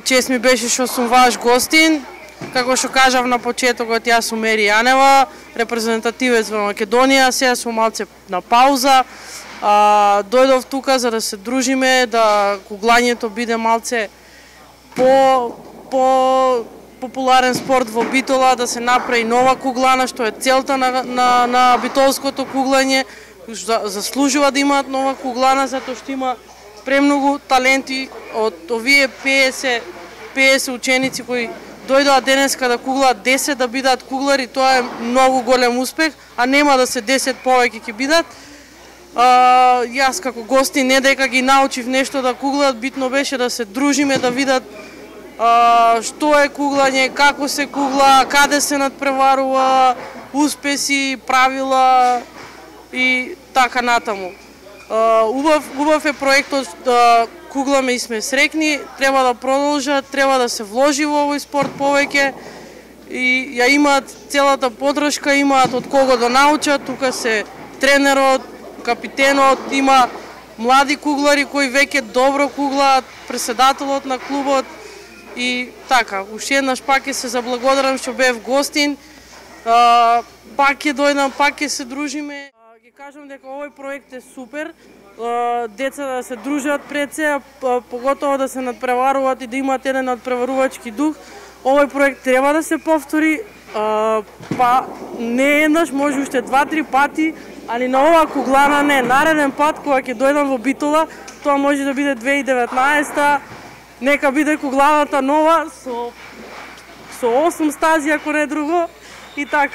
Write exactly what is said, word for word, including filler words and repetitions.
Чест ми беше што сум ваш гостин. Како што кажав на почетокот, јас сум Ери Јанева, репрезентативец во Македонија. Сега сум малце на пауза. А, дојдов тука за да се дружиме, да куглањето биде малце по по популарен спорт во Битола, да се направи нова куглана, што е целта на на, на битолското куглање. Заслужува да имаат нова куглана затоа што има премногу таленти од овие пеесет ученици кои дојдоа денеска да куглаат десет да бидат куглари. Тоа е многу голем успех, а нема да се десет повеќе ќе бидат. А, јас како гости не дека ги научив нешто да куглаат, битно беше да се дружиме, да видат а, што е куглање, како се кугла, каде се надпреварува, успеси, правила и така натаму. Uh, убав, убав е проектот, uh, кугламе и сме срекни, треба да продолжат, треба да се вложи во овој спорт повеќе и ја имаат целата поддршка, имаат од кого да научат, тука се тренерот, капитенот, има млади куглари кои веќе добро куглаат, претседателот на клубот и така, уште еднаш пак ќе се заблагодарам што бев гостин, uh, пак ќе дојдам, пак ќе се дружиме. Ги кажам дека овој проект е супер, деца да се дружат пред се, поготово да се надпреваруваат и да имаат еден надпреварувачки дух. Овој проект треба да се повтори, па не еднаш, може уште два-три пати, али на оваа куглана не. Нареден пат кога ќе дојдам во Битола, тоа може да биде две илјади и деветнаесета, нека биде кугланата нова со со осум стази ако не друго и така.